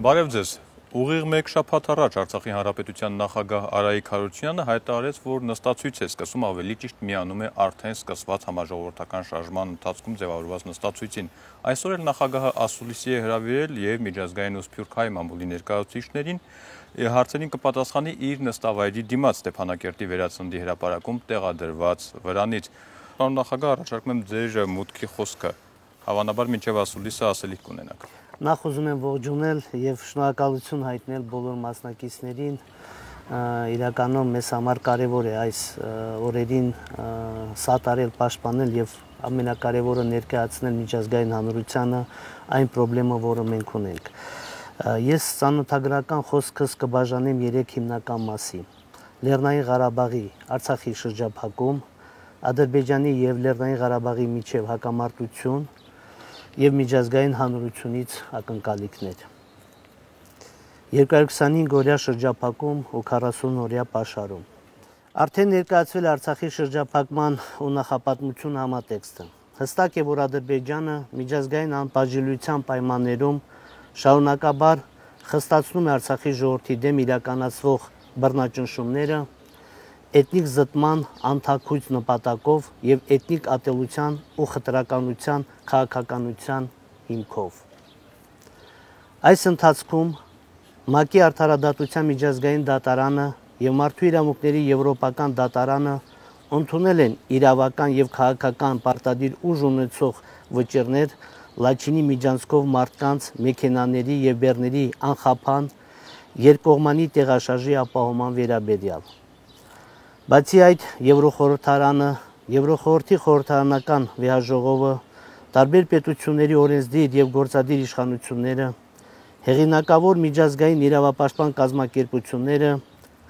Բարև ձեզ։ Ուղիղ մեկ շաբաթ առաջ Արցախի Հանրապետության նախագահ Արայիկ Հարությունյանը հայտարարեց, որ նստացույց է սկսում, ավելի ճիշտ միանում է արդեն սկսված համաժողովրդական շարժման ընթացքում ձևավորված նստացույցին։ Այսօր էլ նախագահը ասուլիսի է հրավիրել եւ միջազգային ու սփյուռքահայ մամուլի ներկայացուցիչներին հարցերին կպատասխանի իր նստավայրի դիմաց Ստեփանակերտի վերածննդի հրապարակում տեղադրված վրանից։ Պարոն նախագահ, առաջարկում եմ ձեր մուտքի խոսքը։ Հավանաբար մինչև ասուլիսը ասելիք կունենաք։ Նախ ուզում եմ ողջունել եւ շնորհակալություն հայտնել բոլոր մասնակիցներին։ Իրականում մեզ համար կարեւոր է այս օրերին սատարել, պաշտպանել եւ ամենակարևորը ներկայացնել միջազգային հանրությանը այն խնդրումը, որը մենք ունենք։ Ես ցանոթագրական խոսքս կբաժանեմ 3 հիմնական մասի։ Լեռնային Ղարաբաղի, Արցախի շրջափակում, Ադրբեջանի եւ Լեռնային Ղարաբաղի միջև հակամարտություն եւ միջազգային հանրությունից ակնկալիքներ։ 225 օրյա շրջափակում ու 40 օրյա պաշարում։ Արդեն ներկայացվել է Արցախի շրջափակման ու նախապատմություն համատեքստը։ Հստակ է, որ Ադրբեջանը միջազգային անբաժանելիության պայմաններում շարունակաբար խստացնում է Արցախի ժողովրդի դեմ իրականացվող բռնաճնշումները էթնիկ զտման անթաքույց նպատակով եւ էթնիկ ատելության ու խտրականության քաղաքականության հիմքով։ Այս ընթացքում ՄԱԿ-ի Արդարադատության միջազգային դատարանը եւ Մարդու իրավունքների եվրոպական դատարանը ընդունել են իրավական եւ քաղաքական պարտադիր ուժ ունեցող վճիռներ Լաչինի միջանցքով մարդկանց, մեքենաների եւ բեռների անխափան երկկողմանի տեղաշարժի ապահովման վերաբերյալ։ Բացի այդ, Եվրոխորհրդարանը, Եվրոխորհրդի խորհրդարանական վեհաժողովը, տարբեր պետությունների օրենսդիր եւ գործադիր իշխանությունները, հեղինակավոր միջազգային իրավապաշտպան կազմակերպությունները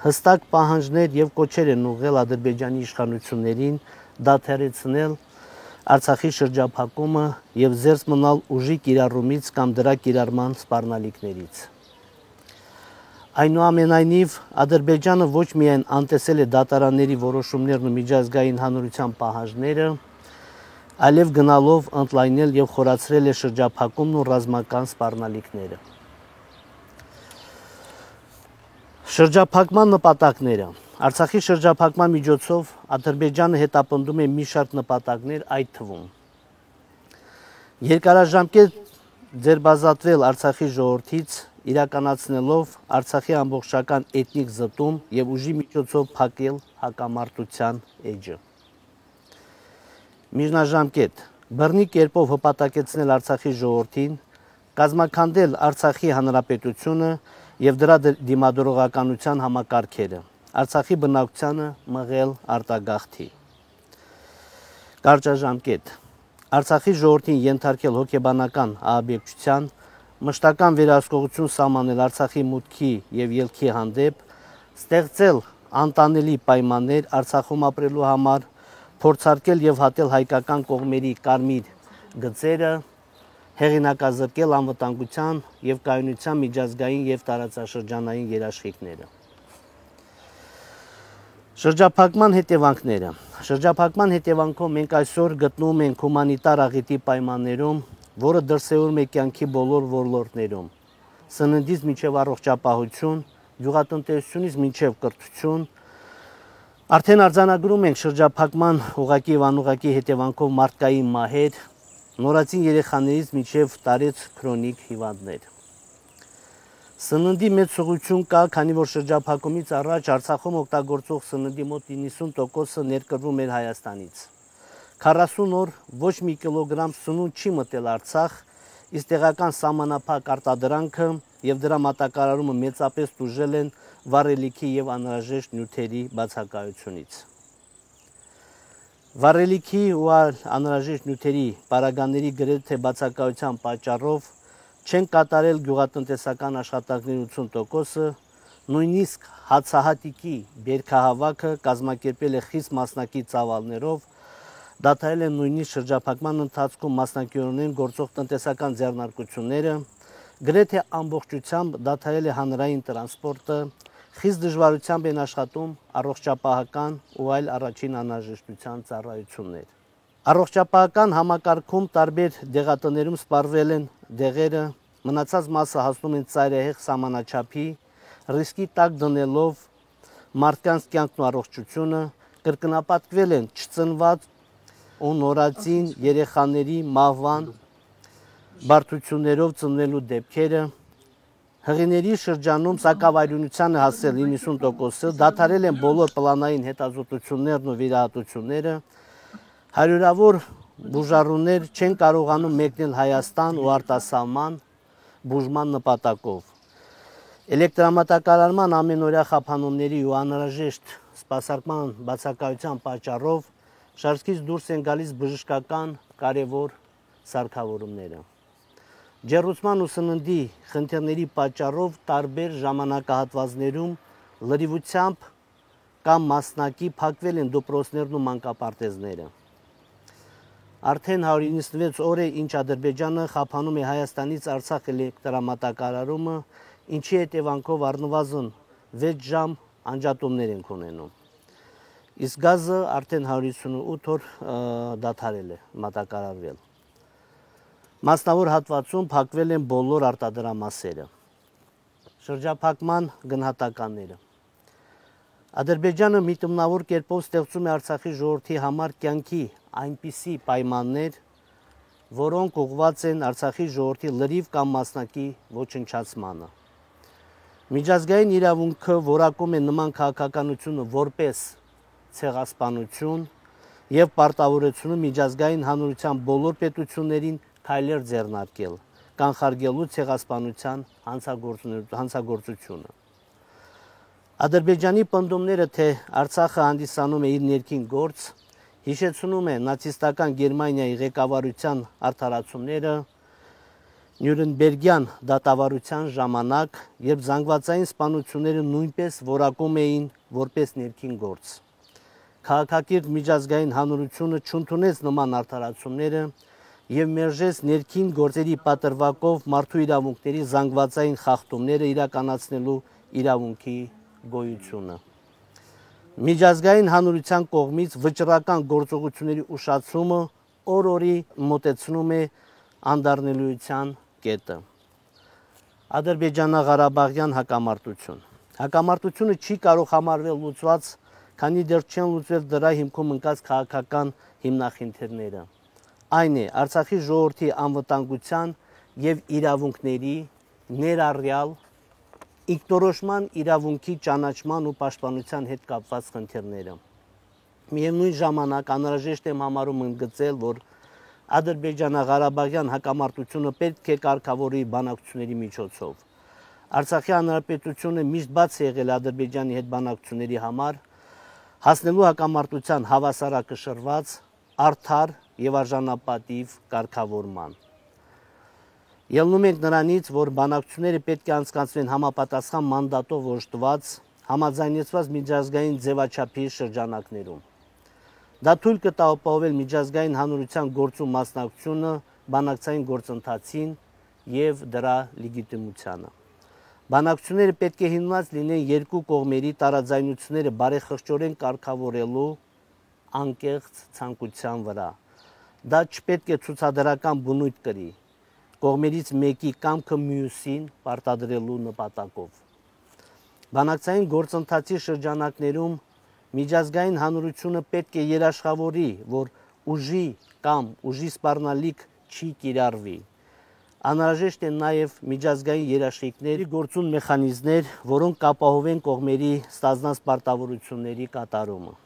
հստակ պահանջներ եւ կոչեր են ուղղել Ադրբեջանի իշխանություններին դադարեցնել Արցախի շրջափակումը եւ զերծ մնալ ուժի կիրառումից կամ դրա կիրառման սպառնալիքներից։ Այնուամենայնիվ, Ադրբեջանը ոչ միայն անտեսել է դատարանների որոշումներն ու միջազգային հանրության պահանջները, այլև գնալով ընդլայնել եւ խորացրել է շրջափակումն ու ռազմական սպառնալիքները։ Շրջափակման նպատակները։ Արցախի շրջափակման միջոցով Ադրբեջանը հետապնդում է մի շարք նպատակներ, այդ թվում երկարաժամկետ ձերբազատվել Արցախի ժողովրդից, իրականացնելով Արցախի ամբողջական էթնիկ զտում եւ ուժի միջոցով փակել հակամարտության էջը։ Միջնաժամկետ բռնի կերպով հպատակեցնել Արցախի ժողովրդին, կազմաքանդել Արցախի հանրապետությունը եւ դրա դիմադրողականության համակարգերը, Արցախի բնակչությանը մղել արտագաղթի։ Կարճաժամկետ Արցախի ժողովրդին ենթարկել հոգեբանական ահաբեկչության, մշտական վերահսկողություն սահմանել Արցախի մուտքի եւ ելքի հանդեպ, ստեղծել անտանելի պայմաններ Արցախում ապրելու համար, փորձարկել եւ հատել հայկական կողմերի կարմիր գծերը, հեղինակազրկել անվտանգության եւ կայունության միջազգային եւ տարածաշրջանային երաշխիքները։ Շրջափակման հետևանքները։ Շրջափակման հետևանքով մենք այսօր գտնվում ենք հումանիտար աղետի պայմաններում, որը դրսևորում է կյանքի բոլոր ոլորտներում, սննդից մինչև առողջապահություն, գյուղատնտեսությունից մինչև կրթություն։ Արդեն արձանագրում ենք շրջափակման ուղղակի եւ անուղղակի հետևանքով մարդկային մահեր, նորածին երեխաներից մինչև տարեց քրոնիկ հիվանդներ։ Սննդի մեծ ուղղություն կա, քանի որ շրջափակումից առաջ Արցախում օգտագործող սննդի մոտ 90%-ը ներկրվում էր Հայաստանից։ 40 օր ոչ մի կիլոգրամ սնունդ չի մտել Արցախ, իսկ տեղական սահմանափակ արտադրանքը եւ դրա մատակարարումը մեծապես տուժել են վառելիքի եւ անհրաժեշտ նյութերի բացակայությունից։ Վառելիքի ու անհրաժեշտ նյութերի պարագաների գրեթե բացակայության պատճառով չեն կատարել գյուղատնտեսական աշխատանքների 80%-ը, նույնիսկ հացահատիկի բերքահավաքը կազմակերպել է խիստ մասնակի ծավալներով, դադարել են նույնիսկ շրջափակման ընթացքում մասնակիորեն գործող տնտեսական ձեռնարկությունները, գրեթե ամբողջությամբ դադարել է հանրային տրանսպորտը, խիստ դժվարությամբ են աշխատում առողջապահական ու այլ առաջին անհրաժեշտության ծառայություններ։ Առողջապահական համակարգում տարբեր դեղատներում սպառվել են դեղերը մնացած մասը հասնում են ծայրահեղ սահմանաչափի, ռիսկի տակ դնելով մարդկանց կյանքն ու առողջությունը, կրկնապատկվել են չծնված ու նորածին երեխաների մահվան բարդություններով ծնվելու դեպքերը, հղիների շրջանում սակավայրունությանը հասել 90%-ը, դադարել են բոլոր պլանային հետազոտություններն ու վիրահատությունները, հարյուրավոր բուժառուներ չեն կարողանում մեկնել Հայաստան ու արտասահման բուժման նպատակով։ Էլեկտրամատակարարման ամենօրյա խափանումների ու անհրաժեշտ սպասարկման բացակայության պատճառով շարքից դուրս են գալիս բժշկական կարևոր սարքավորումները։ Ջեռուցման ու սննդի խնդիրների պատճառով տարբեր ժամանակահատվածներում լրիվությամբ կամ մասնակի փակվել են դպրոցներն ու մանկապարտեզները։ Արդեն 196 օր է, ինչ Ադրբեջանը խափանում է Հայաստանից Արցախ էլեկտրամատակարարումը, ինչի հետևանքով առնվազն 6 ժամ անջատումներ ենք ունենում։ Իսկ գազը արդեն 158 օր դադարել է մատակարարվել։ Մասնավոր հատվածում փակվել են բոլոր արտադրամասերը։ Շրջափակման գնահատականները։ Ադրբեջանը միտումնավոր կերպով ստեղծում է Արցախի ժողովրդի համար կյանքի այնպիսի պայմաններ, որոնք ուղղված են Արցախի ժողովրդի լրիվ կամ մասնակի ոչնչացմանը։ Միջազգային իրավունքը որակում է նման քաղաքականությունը որպես ցեղասպանություն եւ պարտավորեցնում միջազգային հանրության բոլոր պետություններին քայլեր ձեռնարկել, կանխարգելու ցեղասպանության հանցագործությունը։ Ադրբեջանի պնդումները, թե Արցախը հանդիսանում է իր ներքին գործ, հիշեցնում է նացիստական Գերմանիայի ղեկավարության արդարացումները Նյուրնբերգյան դատավարության ժամանակ, երբ զանգվածային սպանությունները նույնպես որակում էին որպես ներքին գործ։ Քաղաքակիրթ միջազգային հանրությունը չընդունեց նման արդարացումները եւ մերժեց ներքին գործերի պատրվակով մարդու իրավունքների զանգվածային խախտումները իրականացնելու իրավունքի գոյությունը։ Միջազգային հանրության կողմից վճռական գործողությունների ուշացումը օր-օրի մոտեցնում է անդառնալիության կետը։ Ադրբեջանա-Ղարաբաղյան հակամարտություն։ Հակամարտությունը չի կարող համարվել լուծված, քանի դեռ չեն լուծվել դրա հիմքում ընկած քաղաքական հիմնախնդիրները։ Այն է Արցախի ժողովրդի անվտանգության եւ իրավունքների ներառյալ ինքնորոշման իրավունքի ճանաչման ու պաշտպանության հետ կապված խնդիրները։ Միևնույն ժամանակ անհրաժեշտ եմ համարում ընդգծել, որ Ադրբեջանա-Ղարաբաղյան հակամարտությունը պետք է կարգավորի բանակցությունների միջոցով։ Արցախի հանրապետությունը միշտ բաց է եղել Ադրբեջանի հետ բանակցությունների համար, հասնելու հակամարտության հավասարակշռված, արդար եւ արժանապատիվ կարգավորման։ Ելնում ենք նրանից, որ բանակցությունները պետք է անցկացվեն համապատասխան մանդատով օժտված, համաձայնեցված միջազգային ձևաչափի շրջանակներում։ Դա թույլ կտա ապահովել միջազգային հանրության գործում մասնակցությունը բանակցային գործընթացին եւ դրա լեգիտիմությանը։ Բանակցությունները պետք է հիմնված լինեն երկու կողմերի տարաձայնությունները բարեխղճորեն կարգավորելու անկեղծ ցանկության վրա։ Դա չպետք է ցուցադրական բնույթ կրի, կողմերից մեկի կամքը մյուսին պարտադրելու նպատակով։ Բանակցային գործընթացի շրջանակներում միջազգային հանրությունը պետք է երաշխավորի, որ ուժի կամ ուժի սպառնալիք չի կիրառվի։ Անհրաժեշտ են նաև միջազգային երաշխիքների գործուն մեխանիզմներ, որոնք կապահովեն կողմերի ստանձնած պարտավորությունների կատարումը։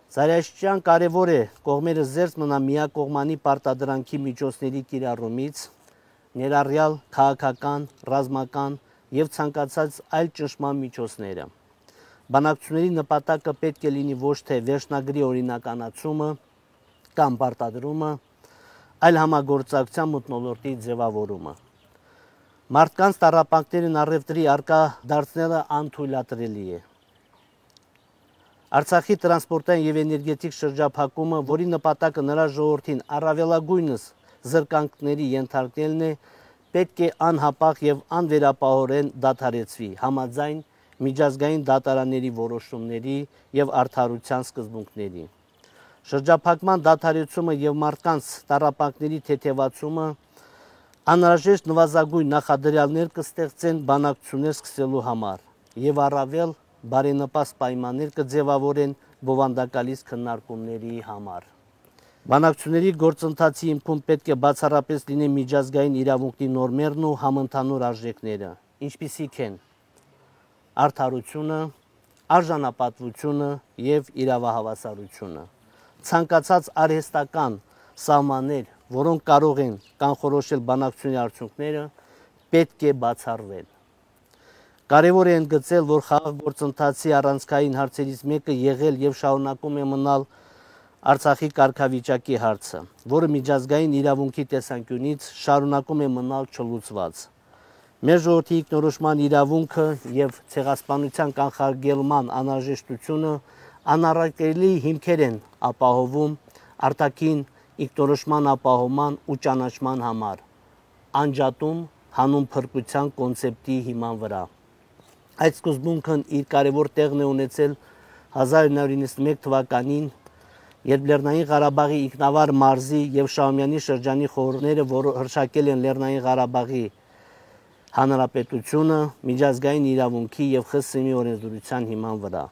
Զարաշրջան կարևոր է կողմերը զերծ մնան միակողմանի պարտադրանքի միջոցների կիրառումից, ներառյալ քաղաքական, ռազմական եւ ցանկացած այլ ճնշման միջոցները։ Բանակցությունների նպատակը պետք է լինի ոչ թե վերջնագրի օրինականացումը կամ պարտադրումը, այլ համագործակցության մթնոլորտի ձևավորումը։ Մարդկանց տառապանքներին առևտրի առկա դարձնելը անթույլատրելի է։ Արցախի տրանսպորտային եւ էներգետիկ շրջափակումը, որի նպատակը նրա ժողովրդին առավելագույնս զրկանքների ենթարկելն է, պետք է անհապաղ եւ անվերապահորեն դադարեցվի համաձայն միջազգային դատարանների որոշումների եւ արդարության սկզբունքների։ Շրջափակման դադարեցումը եւ մարդկանց տառապանքների թեթևացումը Անհրաժեշտ նվազագույն նախադրյալներ կստեղծեն բանակցություններ սկսելու համար եւ առավել բարենպաստ պայմաններ կձևավորեն բովանդակալից քննարկումների համար։ Բանակցությունների գործընթացի հիմքում պետք է բացառապես լինեն միջազգային իրավունքի նորմերն ու համընդհանուր արժեքները, ինչպիսիք են արդարությունը, արժանապատվությունը եւ իրավահավասարությունը։ Ցանկացած արհեստական սահմաններ, որոնք կարող են կանխորոշել բանակցությունների արդյունքները, պետք է բացառվեն։ Կարևոր է ընդգծել, որ խաղաղ գործընթացի առանցքային հարցերից մեկը եղել եւ շարունակում է մնալ Արցախի կարգավիճակի հարցը, որը միջազգային իրավունքի տեսանկյունից շարունակում է մնալ չլուծված։ Մեր ժողովրդի ինքնորոշման իրավունքը եւ ցեղասպանության կանխարգելման անհրաժեշտությունը անառարկելի հիմքեր են ապահովում արտաքին ինքնորոշման ապահովման ու ճանաչման համար, անջատում հանուն փրկության կոնցեպտի հիման վրա։ Այդ սկզբունքն իր կարևոր տեղն է ունեցել 1991 թվականին, երբ Լեռնային Ղարաբաղի ինքնավար մարզի եւ Շահումյանի շրջանի խորհուրդները, որ հռչակել են Լեռնային Ղարաբաղի Հանրապետությունը միջազգային իրավունքի եւ ԽՍՀՄ-ի օրենսդրության հիման վրա։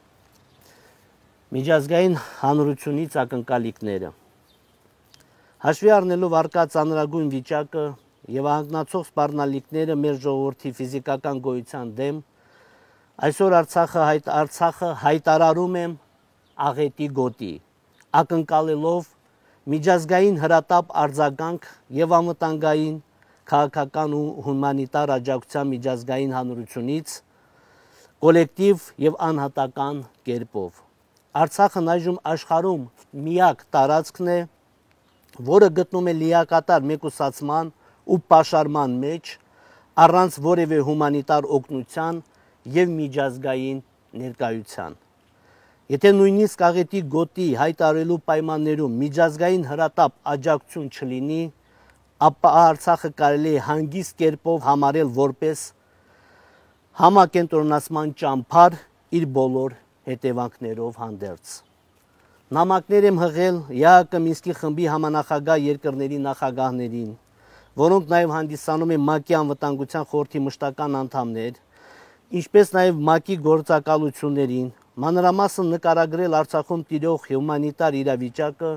Միջազգային հանրությունից ակնկալիքները։ Հաշվի առնելով առկա ծանրագույն վիճակը եւ անգնացող սպառնալիքները մեր ժողովրդի ֆիզիկական գոյության դեմ, այսօր Արցախը հայտարարում եմ աղետի գոտի, ակնկալելով միջազգային հրատապ արձագանք եւ անվտանգային քաղաքական ու հումանիտար աջակցության միջազգային հանրությունից կոլեկտիվ եւ անհատական կերպով։ Արցախն այժմ աշխարհում միակ տարածքն է, որը գտնում է լիակատար մեկուսացման ու պաշարման մեջ առանց որևէ հումանիտար օգնության եւ միջազգային ներկայության։ Եթե նույնիսկ աղետի գոտի հայտարարելու պայմաններում միջազգային հրատապ աջակցություն չլինի, ապա Արցախը կարելի է հանգիստ կերպով համարել որպես համակենտրոնացման ճամփար իր բոլոր հետևանքներով հանդերձ։ Նամակներ եմ հղել ԵԱՀԿ Մինսկի խմբի համանախագահ երկրների նախագահներին, որոնք նաև հանդիսանում են ՄԱԿ-ի անվտանգության խորհրդի մշտական անդամներ, ինչպես նաև ՄԱԿ-ի գործակալություններին, մանրամասն նկարագրել Արցախում տիրող հումանիտար իրավիճակը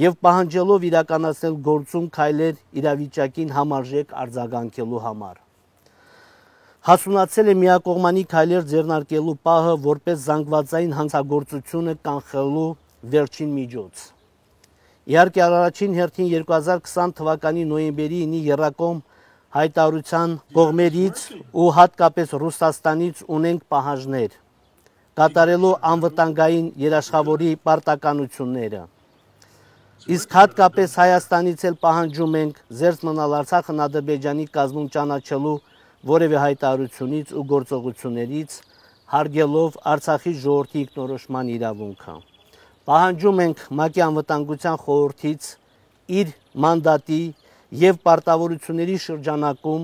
եւ պահանջելով իրականացնել գործուն քայլեր իրավիճակին համարժեք արձագանքելու համար։ Հասունացել է միակողմանի քայլեր ձեռնարկելու պահը որպես զանգվածային հանցագործությունը կանխելու վերջին միջոց։ Իհարկե առաջին հերթին 2020 թվականի նոյեմբերի 9-ի եռակողմ հայտարարության կողմերից ու հատկապես Ռուսաստանից ունենք պահանջներ, կատարելու անվտանգային երաշխավորի պարտականությունները։ Իսկ հատկապես Հայաստանից էլ պահանջում ենք զերծ մնալ Արցախն Ադրբեջանի կազմում ճանաչելու որևէ հայտարարությունից ու գործողություններից, հարգելով Արցախի ժողովրդի ինքնորոշման իրավունքը։ Պահանջում ենք ՄԱԿ-ի անվտանգության խորհրդից իր մանդատի եւ պարտավորությունների շրջանակում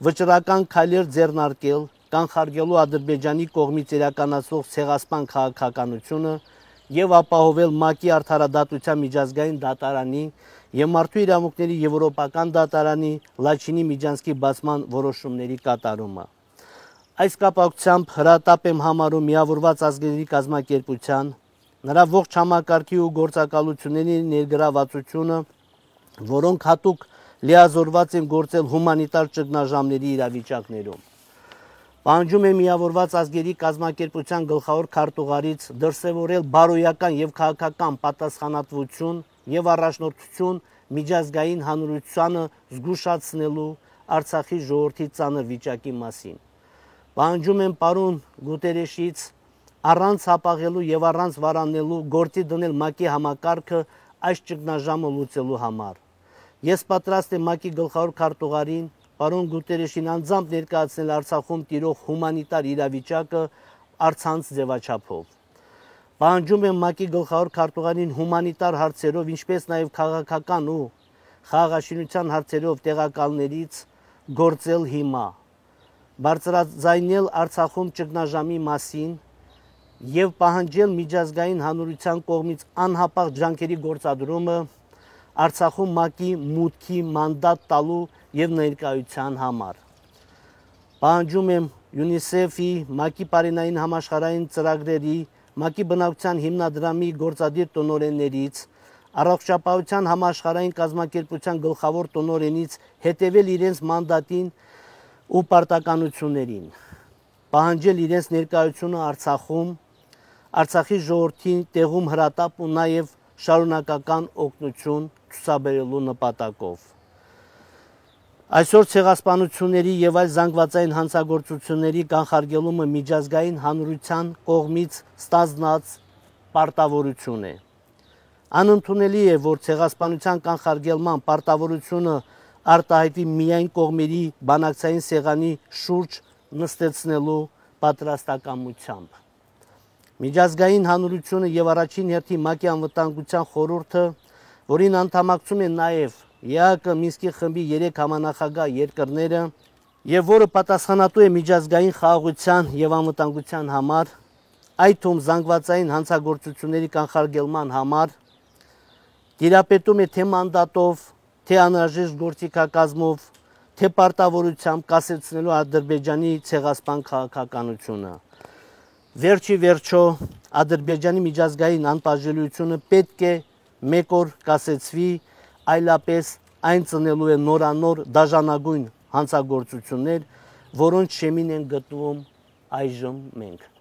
վճռական քայլեր ձեռնարկել, կանխարգելու Ադրբեջանի կողմից իրականացվող ցեղասպան քաղաքականությունը եւ ապահովել ՄԱԿ-ի արդարադատության միջազգային դատարանի եւ մարդու իրավունքների եվրոպական դատարանի Լաչինի Միջանցքի բացման որոշումների կատարումը։ Այս կապակցությամբ հրատապ եմ համարում Միավորված ազգերի կազմակերպության, նրա ողջ համակարգի ու գործակալությունների ներգրավվածությունը, որոնք հատուկ լիազորված են գործել հումանիտար ճգնաժամերի իրավիճակներում։ Պահանջում է Միավորված ազգերի կազմակերպության գլխավոր քարտուղարից դրսևորել բարոյական եւ քաղաքական պատասխանատվություն եւ առաջնորդություն միջազգային հանրությանը զգուշացնելու Արցախի ժողովրդի ծանր վիճակի մասին։ Պահանջում եմ պարոն Գուտերեշից առանց հապաղելու եւ առանց վարանելու գործի դնել ՄԱԿ-ի համակարգը այս ճգնաժամը լուծելու համար։ Ես պատրաստ եմ ՄԱԿ-ի գլխավոր քարտուղարին պարոն Գուտերեշին անձամբ ներկայացնել Արցախում տիրող հումանիտար իրավիճակը առցանց ձևաչափով։ Պահանջում եմ ՄԱԿ-ի գլխավոր քարտուղարին հումանիտար հարցերով, ինչպես նաև քաղաքական ու խաղաղաշինության հարցերով տեղակալներից գործել հիմա, բարձրաձայնել Արցախում ճգնաժամի մասին եւ պահանջել միջազգային հանրության կողմից անհապաղ ջանքերի գործադրումը Արցախում ՄԱԿ-ի մուտքի մանդատ տալու եւ ներկայության համար։ Պահանջում եմ UNICEF-ի, ՄԱԿ-ի Պարենային համաշխարհային ծրագրերի, ՄԱԿ-ի բնակության հիմնադրամի գործադիր տնօրեններից, Առողջապահության համաշխարհային կազմակերպության գլխավոր տնօրենից հետևել իրենց մանդատին ու պարտականություններին, պահանջել իրենց ներկայությունը Արցախում, Արցախի ժողովրդին տեղում հրատապ ու նաև շարունակական օգնություն ցուցաբերելու նպատակով։ Այսօր ցեղասպանությունների եւ այլ զանգվածային հանցագործությունների կանխարգելումը միջազգային հանրության կողմից ստանձնած պարտավորություն է։ Անընդունելի է, որ ցեղասպանության կանխարգելման պարտավորությունը արտահայտվի միայն կողմերի բանակցային սեղանի շուրջ նստեցնելու պատրաստակամությամբ։ Միջազգային հանրությունը եւ առաջին հերթին ՄԱԿ-ի անվտանգության խորհուրդը, որին անդամակցում են նաեւ ԵԱՀԿ Մինսկի խմբի 3 համանախագահ երկրները եւ որը պատասխանատու է միջազգային խաղաղության եւ անվտանգության համար, այդ թվում զանգվածային հանցագործությունների կանխարգելման համար, տիրապետում է թե մանդատով, թե անհրաժեշտ գործիքակազմով, թե պարտավորությամբ կասեցնելու Ադրբեջանի ցեղասպան քաղաքականությունը։ Վերջի վերջո Ադրբեջանի միջազգային անպաշտպանությունը պետք է մեկ օր կասեցվի, այլապես այն ծնելու է նորանոր դաժանագույն հանցագործություններ, որոնց շեմին են գտնվում այժմ մենք։